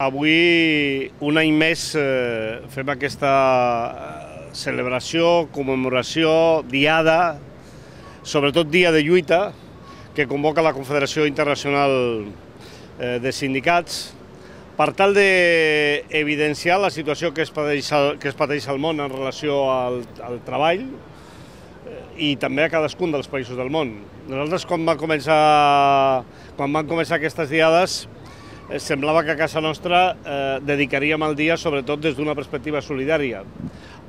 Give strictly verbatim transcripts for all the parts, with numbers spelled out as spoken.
Avui, un any més, eh, fem aquesta celebració, commemoració, diada, sobretot dia de lluita, que convoca la Confederació Internacional eh, de Sindicats, per tal d'evidenciar la situació que es pateix, que es pateix al món en relació al, al treball i també a cadascun dels països del món. Nosaltres, quan van començar, quan van començar aquestes diades, eh, semblava que a casa nostra eh, dedicaríem el dia sobretot des d'una perspectiva solidària.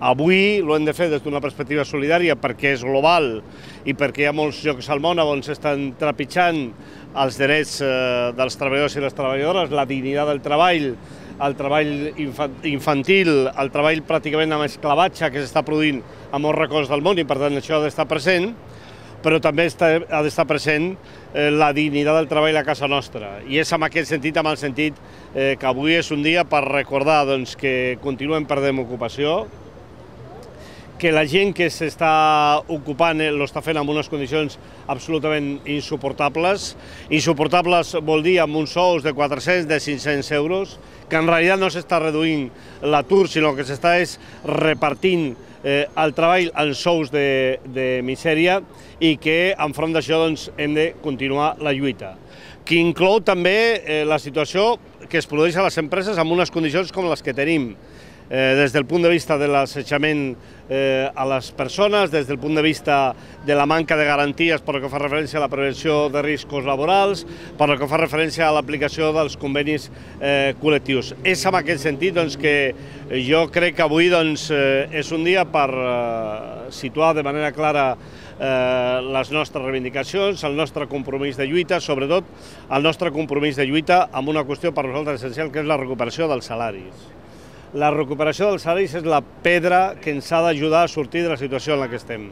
Avui ho hem de fer des d'una perspectiva solidària perquè és global i perquè hi ha molts llocs al món on s'estan trepitjant els drets eh, dels treballadors i les treballadores, la dignitat del treball, el treball infantil, el treball pràcticament amb esclavatge que s'està produint a molts racons del món i per tant això ha d'estar present, però també està, ha d'estar present eh, la dignitat del treball a casa nostra. I és en aquest sentit, amb el sentit eh, que avui és un dia per recordar doncs, que continuem perdent ocupació, que la gent que s'està ocupant l'està fent en unes condicions absolutament insuportables. Insuportables vol dir amb uns sous de quatre-cents, de cinc-cents euros, que en realitat no s'està reduint l'atur, sinó que s'està repartint eh, el treball en sous de, de misèria i que enfront d'això doncs, hem de continuar la lluita. Que inclou també eh, la situació que es produeix a les empreses en unes condicions com les que tenim. Eh, des del punt de vista de l'assetjament eh, a les persones, des del punt de vista de la manca de garanties per que fa referència a la prevenció de riscos laborals, per que fa referència a l'aplicació dels convenis eh, col·lectius. És en aquest sentit doncs, que jo crec que avui doncs, eh, és un dia per eh, situar de manera clara eh, les nostres reivindicacions, el nostre compromís de lluita, sobretot el nostre compromís de lluita amb una qüestió per nosaltres essencial, que és la recuperació dels salaris. La recuperació dels salaris és la pedra que ens ha d'ajudar a sortir de la situació en la que estem.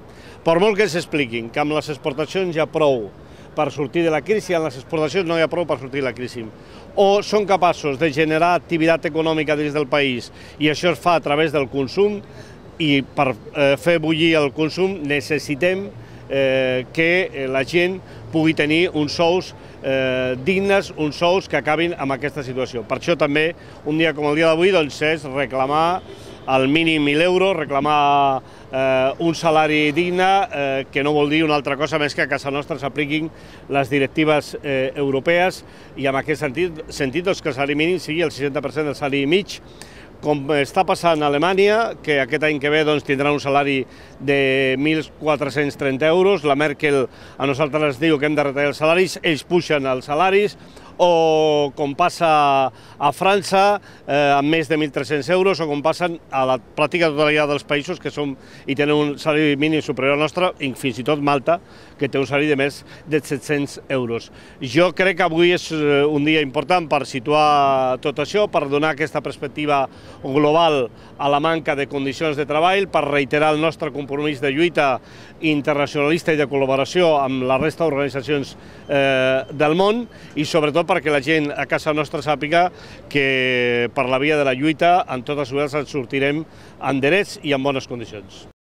Per molt que ens expliquin que amb les exportacions hi ha prou per sortir de la crisi, amb les exportacions no hi ha prou per sortir de la crisi. O són capaços de generar activitat econòmica dins del país i això es fa a través del consum i per eh, fer bullir el consum necessitem eh, que la gent pugui tenir uns sous eh, dignes, uns sous que acabin amb aquesta situació. Per això també, un dia com el dia d'avui, doncs, és reclamar el mínim mil euros, reclamar eh, un salari digne, eh, que no vol dir una altra cosa més que a casa nostra s'apliquin les directives eh, europees i en aquest sentit, sentit doncs, que el salari mínim sigui el seixanta per cent del salari mig, com està passant a Alemanya, que aquest any que ve doncs, tindrà un salari de mil quatre-cents trenta euros, la Merkel a nosaltres ens diu que hem de retallar els salaris, ells pugen els salaris, o com passa a França, eh, amb més de mil tres-cents euros, o com passen a la pràctica totalitat dels països que som i tenen un salari mínim superior al nostre, i fins i tot Malta, que té un salari de més de set-cents euros. Jo crec que avui és un dia important per situar tot això, per donar aquesta perspectiva global a la manca de condicions de treball, per reiterar el nostre compromís de lluita internacionalista i de col·laboració amb la resta d'organitzacions eh, del món i sobretot perquè la gent a casa nostra sàpiga que per la via de la lluita en totes les ens sortirem en drets i en bones condicions.